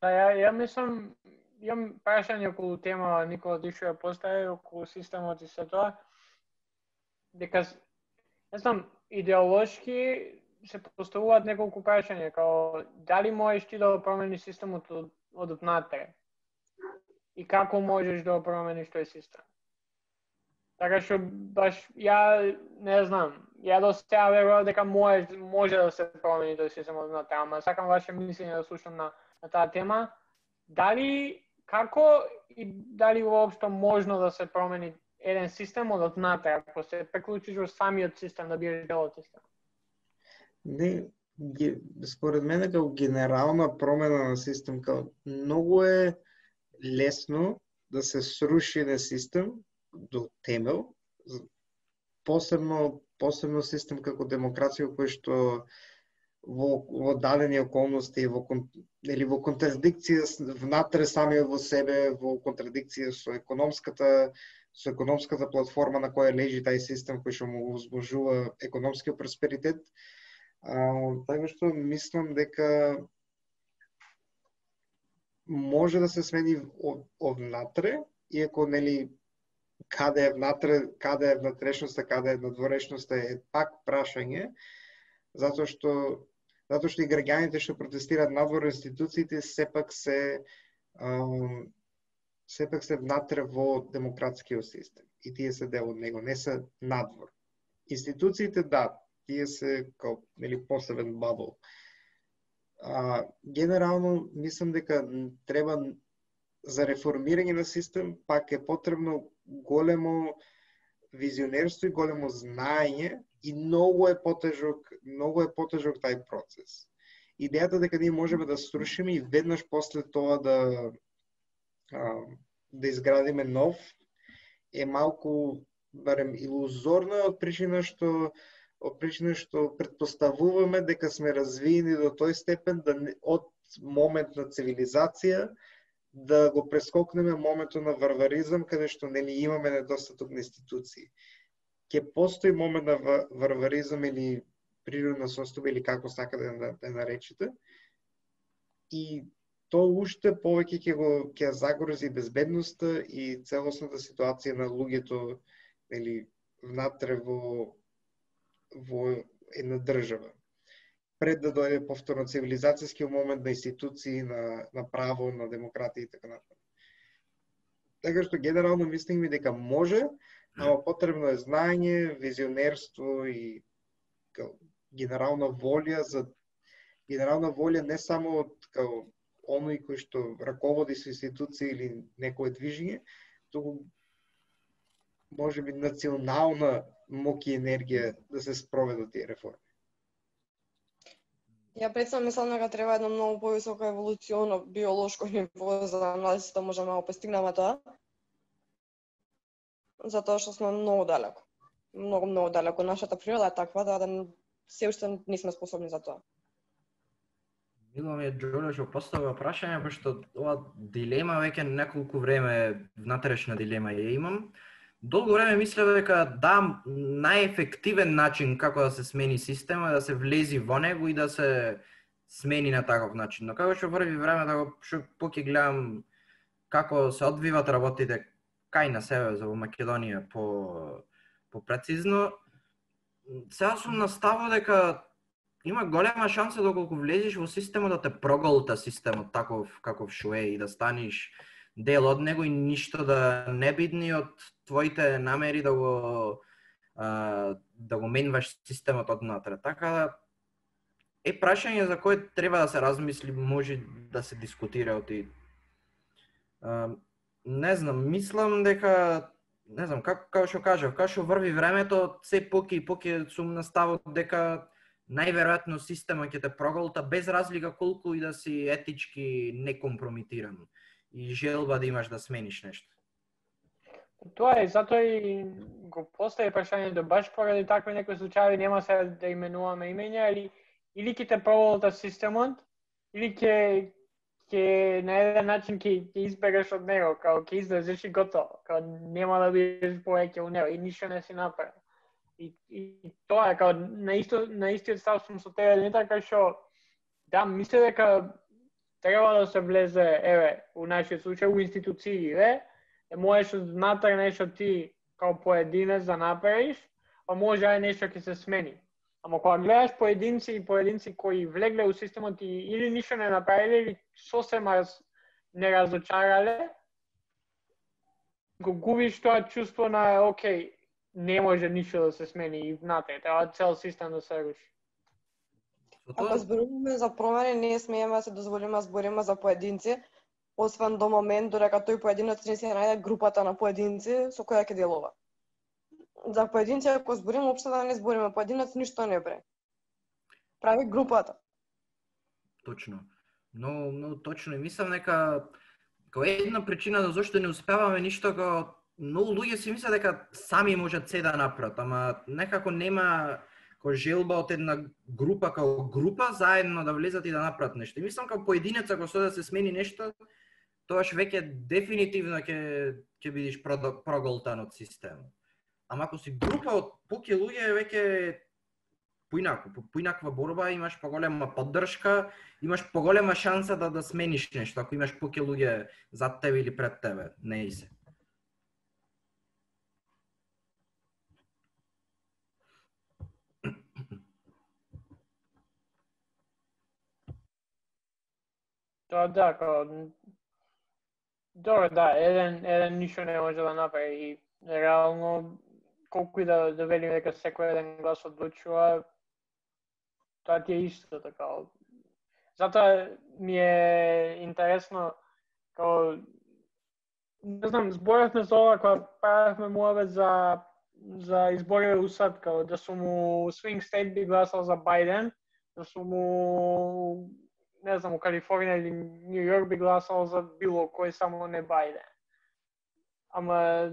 Да, ја, ја мислам, имам прашање околу тема Никола Дишо ја постави околу системот и се тоа. Дека, не знам, идеолошки се поставуваат неколку прашања, као дали можеш ти да промени системот од, од внатре? И како можеш да промениш тој систем? Така што баш ја не знам, ја до сега верувам дека може може да се промени тој систем од внатре, ама сакам ваше мислење да слушам на на таа тема. Дали како и дали воопшто можно да се промени еден систем од внатре, ако се преклучиш во самиот систем да бидеш дел од систем? Не, според мене како генерална промена на систем, како многу е лесно да се сруши еден систем до темел, посебно посебно систем како демокрација кој што во во дадени околности во или во контрадикција внатре самиот во себе, во контрадикција со економската со економската платформа на која лежи тај систем кој што му возможува економскиот просперитет. А, така што мислам дека може да се смени од внатре, иако нели каде е внатре, каде е внатрешноста, каде е надворешноста е пак прашање, затоа што затоа што и граѓаните што протестираат надвор институциите сепак се ам, сепак се внатре во демократскиот систем и тие се дел од него, не се надвор. Институциите да, тие се како нели посебен бабл. А, генерално мислам дека треба за реформирање на систем пак е потребно големо визионерство и големо знаење и многу е потежок, многу е потежок тај процес. Идејата дека ние можеме да срушиме и веднаш после тоа да а, да изградиме нов е малку барем илузорна од причина што од причина што претпоставуваме дека сме развиени до тој степен да од момент на цивилизација да го прескокнеме моментот на варваризам, каде што нели имаме недостаток на институции. Ќе постои момент на варваризам или природна состојба или како сакате да да наречете. И тоа уште повеќе ќе го ќе загрози безбедноста и целосната ситуација на луѓето, нели, внатре во во една држава. Пред да дојде повторно цивилизацијскиот момент на институции, на на право, на демократија и така натаму. Така што генерално мислим и дека може, ама потребно е знаење, визионерство и као, генерална волја за генерална волја не само од као оној кој што раководи со институции или некое движење, туку може би национална моќ и енергија да се спроведат тие реформи. Ја предсам мислам дека треба едно многу повисоко еволуционо биолошко ниво за анализа да можеме да постигнеме тоа. Затоа што сме многу далеко. Многу, многу далеко. Нашата природа е таква да, да се уште не сме способни за тоа. Мило ми е Џоле што поставува прашање, пошто ова дилема веќе неколку време внатрешна дилема ја имам. Долго време мислев дека да, најефективен начин како да се смени система е да се влези во него и да се смени на таков начин. Но како што врви времето, што поќе гледам како се одвиват работите кај на себе за во Македонија по по прецизно, сега сум на ставот дека има голема шанса доколку влезеш во системот да те проголта системот таков каков што е и да станеш дел од него и ништо да не бидни од твоите намери да го а, да го менваш системот однатре. Така да е прашање за кое треба да се размисли, може да се дискутира од и а, не знам, мислам дека не знам, како како што кажав, како што врви времето, се поќе и поќе сум на ставот дека најверојатно системот ќе те проголта без разлика колку и да си етички некомпромитиран и желба да имаш да смениш нешто. Тоа е, затоа и го постави прашањето баш поради такви некои случаи, нема се да именуваме имења, или или ќе те проголта системот, или ќе ќе на еден начин ќе ќе избегаш од него, као ќе излезеш и готово, као нема да бидеш повеќе у него и ништо не си направил. И, и тоа е као на исто на истиот став сум со тебе, не така што да мислам дека треба да се влезе, еве, у нашиот случај у институциите, да можеш однатре нешто ти као поединец да направиш, а може да нешто ќе се смени. Ама кога гледаш поединци и поединци кои влегле у системот и или ништо не направиле, или сосем раз не разочарале, го губиш тоа чувство на, окей, не може ништо да се смени и внатре, треба цел систем да се руши. Ако зборуваме за промени, не смееме да се дозволиме да збориме за поединци, освен до момент додека тој поединец не се најде групата на поединци со која ќе делува. За поединци, ако збориме, општо да не збориме, поединец ништо не бре. Прави групата. Точно. Но, но точно. И мислам дека како една причина за зашто не успеваме ништо, како многу луѓе си мислат дека сами можат се да направат, ама некако нема кој желба од една група како група заедно да влезат и да направат нешто. И мислам како поединец ако се да се смени нешто, тоаш веќе дефинитивно ќе ќе бидеш проголтан од системот. Ама ако си група од поќе луѓе веќе поинаку, по поинаква борба, имаш поголема поддршка, имаш поголема шанса да да смениш нешто ако имаш поќе луѓе зад тебе или пред тебе, не и се. Тоа да, као добро, да, еден еден ништо не може да направи и реално колку и да да велиме дека секој еден глас одлучува, тоа ти е исто така. Затоа ми е интересно, као не знам, зборавме за ова кога правевме муабет за за избори у САД, као да сум у Swing State би гласал за Бајден, да сум у не знам, у Калифорнија или Нью Йорк би гласал за било кој, само не Бајден. Ама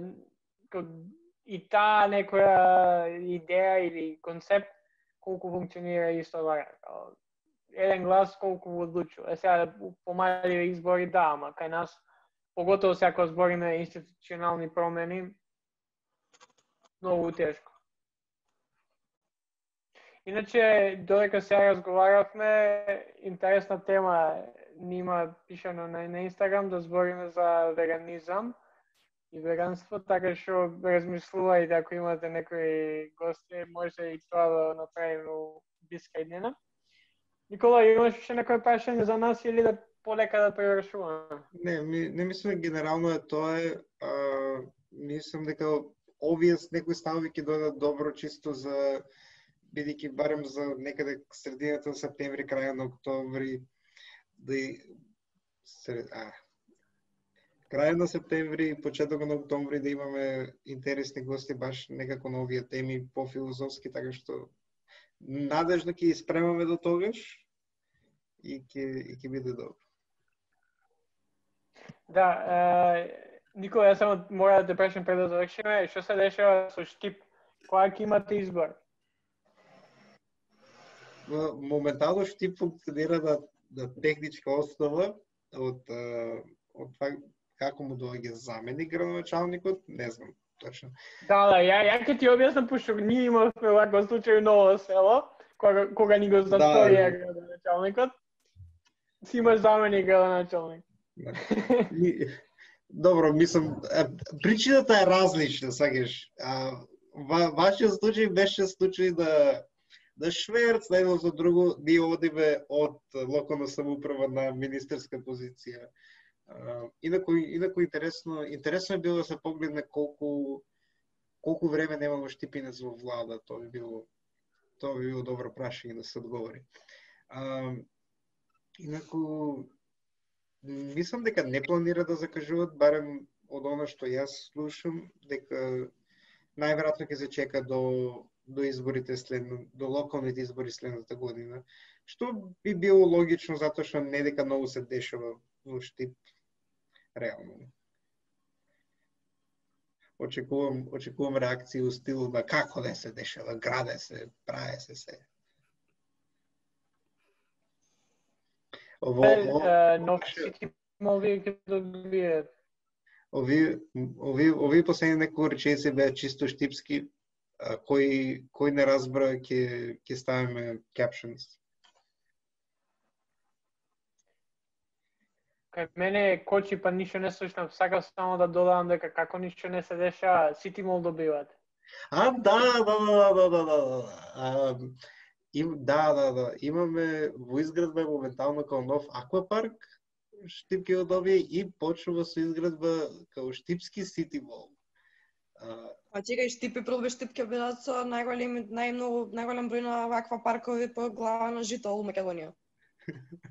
и таа некоја идеја или концепт колку функционира исто така. Еден глас колку го одлучува. Е сега помалива избори, да, ама кај нас, поготово сега кога збориме институционални промени, многу тешко. Иначе, додека сега разговаравме, интересна тема нима пишано на, на Инстаграм да збориме за веганизам и веганство, така што размислувајте ако имате некои гости, може и тоа да направиме у блиска иднина. Никола, имаш уште некој прашање за нас или да полека да превршуваме? Не, ми, не мислам генерално е тоа е, а, мислам дека овие некои ставови ќе дојдат добро чисто за бидејќи барем за некаде средината на септември, крајот на октомври, да и сред, а, крајот на септември и почетокот на октомври да имаме интересни гости баш некако на овие теми по-филозофски, така што надежно ќе испремаме до тогаш и ќе и ќе биде добро. Да, е, Никола, јас само мора да те прашам пред да завршиме, што се дешава со Штип? Кога ќе имате избор? Моментално Штип функционира на, на техничка основа од, од това како му доаѓа заменик градоначалникот, не знам точно. Да, да, ја, ја ќе ти објаснам, пошто ние имавме вакво случај у Ново Село, кога, кога ни го затворија да, градоначалникот, си имаш заменик градоначалник. Да. Добро, мислам, причината е различна, сакаш. Ва, вашиот случај беше случај да да Шверц, на едно за друго, ние одиме од локална самоуправа на министерска позиција. Инаку, инаку интересно, интересно е било да се погледне колку колку време немало Штипинец во влада, тоа би било тоа би било добро прашање да се одговори. А, инаку мислам дека не планира да закажуваат, барем од она што јас слушам, дека најверојатно ќе се чека до до изборите следно, до локалните избори следната година, што би било логично затоа што не дека многу се дешава во Штип реално. Очекувам, очекувам реакции у стилу на како да се дешава, граде се, прави се се. Ово, ово, нов сити мови ќе добијат. Ови, ови, ови последни некои реченици беа чисто штипски, кој кој не разбра ќе ќе ставиме captions. Кај мене кочи па ништо не слушнав, сакав само да додадам дека како ништо не се деша, Сити Мол добиват. А, да, да, да, да, да, да. А, им, да, да, да. Имаме во изградба моментално као нов аквапарк, Штип ќе го добие и почнува со изградба као Штипски Сити Мол. А чекај, Штип и Пролбе Штип ќе бидат со најголем најмногу најголем број на ваква паркови по глава на жител во Македонија.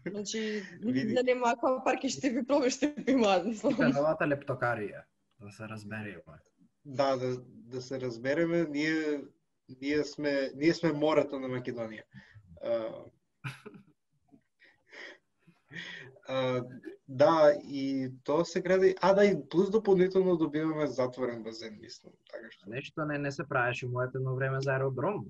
Значи, да нема аквапарк и Штип и Пролбе Штип имаат, мислам. Тоа е новата лептокарија, да се разбереме. Да, да, да се разбереме, ние ние сме ние сме морето на Македонија. А, а, да, и тоа се гради, а да и плюс дополнително добиваме затворен базен, мислам, така што. Нешто не не се правеше моето едно време за аеродром.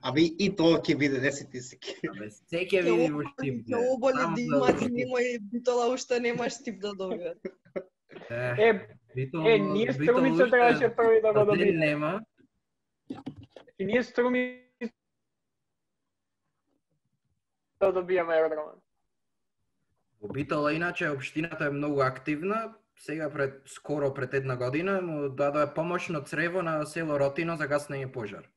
Абе и тоа ќе биде десети секи. Абе се ќе види во Штип. Ќе оболи димат, немој Битола уште нема Штип да добие. Е, е, ние Струмица требаше први да го добие. Нема. И ние Струми да добиеме аеродромот. Во Битола иначе општината е многу активна. Сега пред скоро пред една година му дадоа помошно црево на село Ротино за гаснење пожар.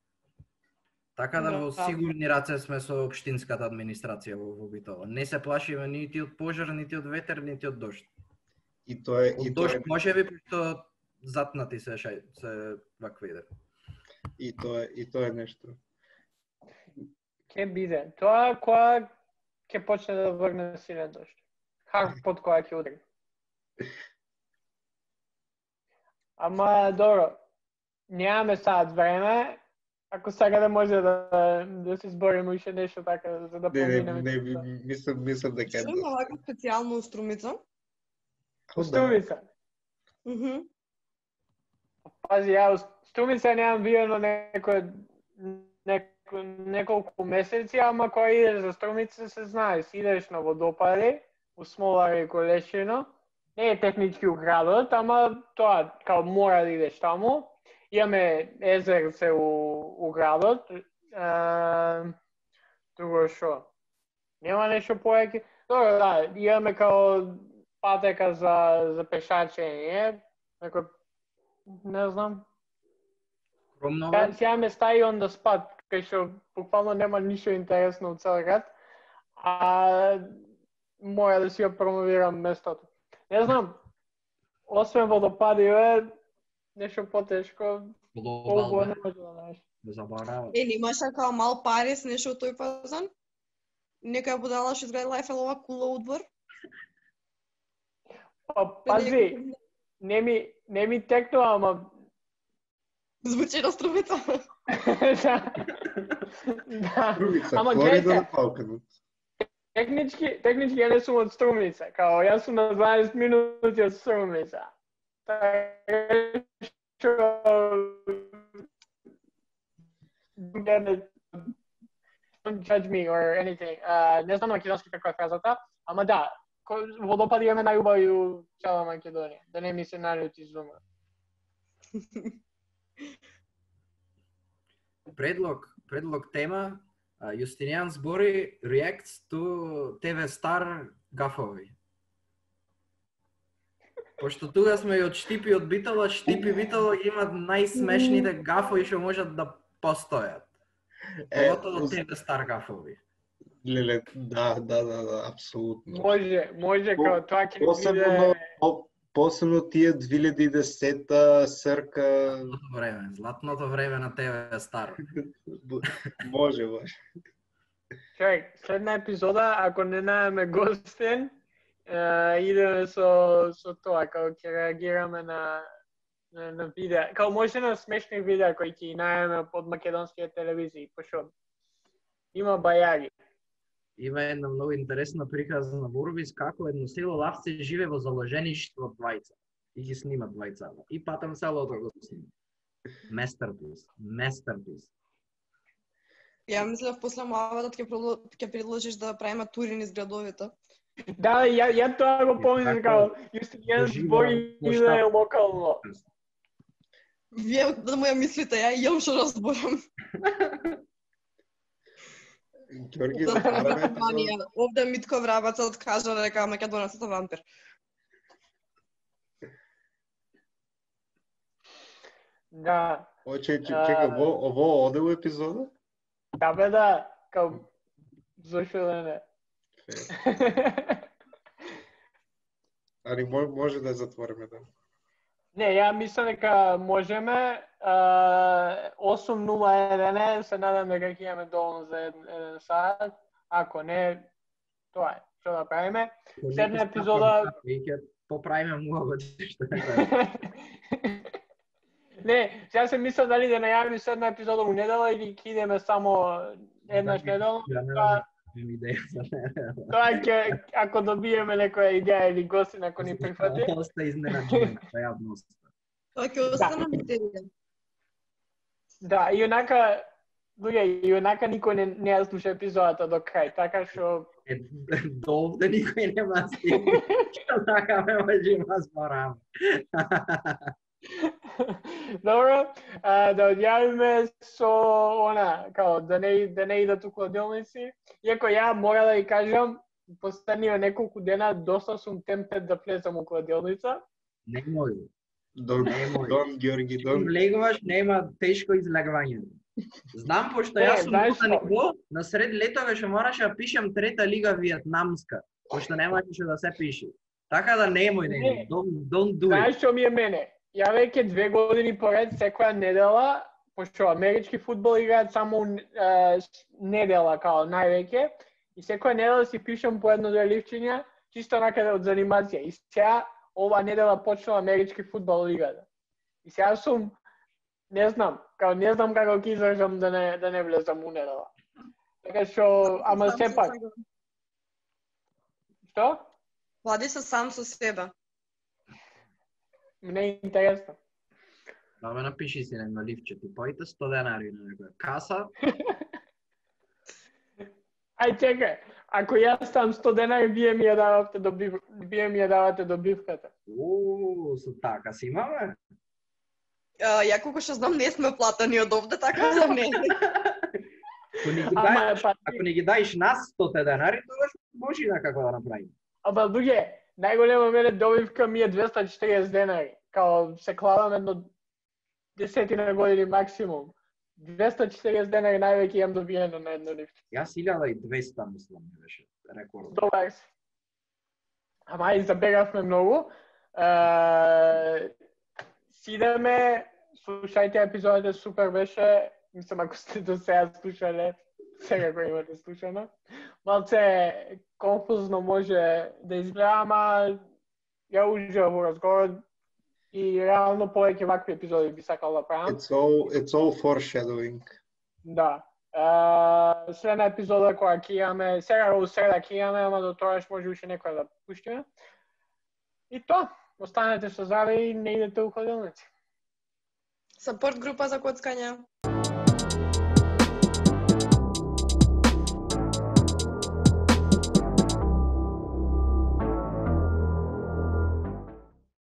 Така да во сигурни раце сме со општинската администрација во, во Битола. Не се плашиме нити од пожар, нити од ветер, нити од дожд. И тоа е и тоа тоа е можеби што затнати се шај, се ваквиде. И тоа и тоа е нешто. Ке биде. Тоа кога ќе почне да врне силен дожд. Хард под која ќе удари. Ама добро. Немаме сад време. Ако сега да може да да се збориме уште нешто така за да поминеме. Не, не, не мислам мислам дека Што има вака специјално у Струмица? Струмица. Мхм. Пази, ја Струмица немам видено некој неко, неколку месеци, ама кога идеш за Струмица се знае, си идеш на водопади, у Смолари и Колешино. Не е технички у градот, ама тоа као мора да идеш таму. Имаме езерце у, у градот, Uh, друго шо? Нема нешто поеќе? Добро, да, имаме као патека за, за пешачење, некој, не знам. Скромно. Сега ме стави on the spot, кај што буквално нема ништо интересно у цел град, а мора да си ја промовирам местото. Не знам, освен водопадиве, нешто потешко, Водовал, не може да знаеш. да заборава. Е, немаш како мал Парис, нешто од тој фазон? Некоја будала што изградила Ефелова кула у двор? Па, пази, не ми, не ми текнува, ама... Звучи на Струмица. да. да. Струмица, Ама Флорида гледајте, на Палканот. технички, технички ја не сум од Струмица, као јас сум на дваесет минути од Струмица. Така што... Don't judge me or anything. Uh, не знам на македонски каква е фразата, ама да, водопади имаме најубави у цела Македонија, да не ми се налјути зума. Предлог, предлог тема, Јустинијан збори reacts to Те Ве Стар гафови. Пошто тука сме и од Штипи од Битола, Штипи Битола имаат најсмешните гафови што можат да постојат. Поготово Те Ве Стар гафови. Леле, да, да, да, да, апсолутно. Може, може По- као тоа ќе Посебно, биде... по- посебно тие две илјади и десета Срка, Златното време, златното време на Те Ве Стар. може, може. Човек, следна епизода, ако не најаме гостен, е, идеме со, со тоа, као ќе реагираме на, на, на видеа. Као може на смешни видеа кои ќе најаме под македонските телевизии, пошто има бајаги. Има една многу интересна приказна на Борбис како едно село лавце живе во заложеништво од двајца и ги снимат двајцата. И патам селото го снима. Masterpiece, masterpiece. Ја мислев после муаватот ќе предло- ќе предложиш да правиме тури низ градовите. Да, ја, ја тоа го помислам Така, као Јустинијан доживеа збори площад. иде локално. Вие да му ја мислите, ја и јам што разборам. Ѓорги, За да караме Македонија. епизода. Овде Митко Врабацот кажа дека македонецот е вампир. Да, О, чек, чек, чека, ово, ово оде у епизода? да бе да, као зашо да не. Али може, може да ја затвориме, да. Не, ја мислам дека можеме. осум нула еден е, се надам дека ќе имаме доволно за еден, еден сат. Ако не, тоа е. Што да правиме? Следна епизода... И ќе поправиме муавот што е. Не, сега се мислам дали да најавим следна епизода у недела или ќе идеме само еднаш неделно. Ја не Тоа- знам идеја за неделя. Тоа ќе, ако добиеме некоја идеја или гостин, ако ни прифати. Оста изненаđenje, појавност. Тоа ќе остане мистерија. Да, и онака, луѓе, и онака никој не, не ја слуша епизодата до крај, така што... Е, до овде никој нема стигне. Што така ме може има зборам. Добро, а, да одјавиме со она, као да не да не идат у кладилници. Иако ја мора да ви кажам, последниве неколку дена доста сум темпет да влезам у кладилница. Немој. Дон, Немој. Дон, Ѓорги, Ти Дон. влегуваш, нема тешко излегвање. Знам, пошто Не, јас сум знаеш на што? ниво, на сред лето беше мораше да пишем трета лига виетнамска, пошто немаше што да се пише. Така да немој, Не. немој. Don't, don't do Знаеш it. што ми е мене? Ја веќе две години поред секоја недела, пошто амерички фудбал играат само е, недела као највеќе, и секоја недела си пишам по едно две ливчиња, чисто накаде од занимација. И сега ова недела почнува амерички фудбал лигата. И сега сум, не знам, као не знам како ќе издржам да не да не влезам у недела. Така што, ама Сам со сепак, себе. што? Влади се сам со себе. Не е интересно. Да ме напиши си на ливче, ти поите сто денари на некоја каса. Ај чекај, ако јас стам сто денари, вие ми ја давате до бив... вие ми ја давате до бивката. Уу, со така си имаме. А, ја колку што знам не сме платени од овде, така да не. Ако не ги Ама, даеш, па, ако не ги даеш нас сто денари, тогаш може на како да направим. Ама, луѓе, најголема мене добивка ми е двесте и четириесет денари. Као се кладам едно десетина години максимум. двесте и четириесет денари највеќе имам добиено на едно лифт. Јас илјада и двесте мислам беше рекорд. Добар си. Ама и забегавме многу. Е, сидеме, слушајте епизодите, супер беше. Мислам, ако сте до сега слушале, сега го имате слушано. Малце конфузно може да изгледа, ама ја уживам во разговор и реално повеќе вакви епизоди би сакал да правам. It's all, it's all foreshadowing. Да. Uh, следна епизода која ќе имаме, сега во среда ќе имаме, ама до тогаш може уште некоја да пуштиме. И тоа, останете со здраве и не идете у ходилници. Сапорт група за коцкање.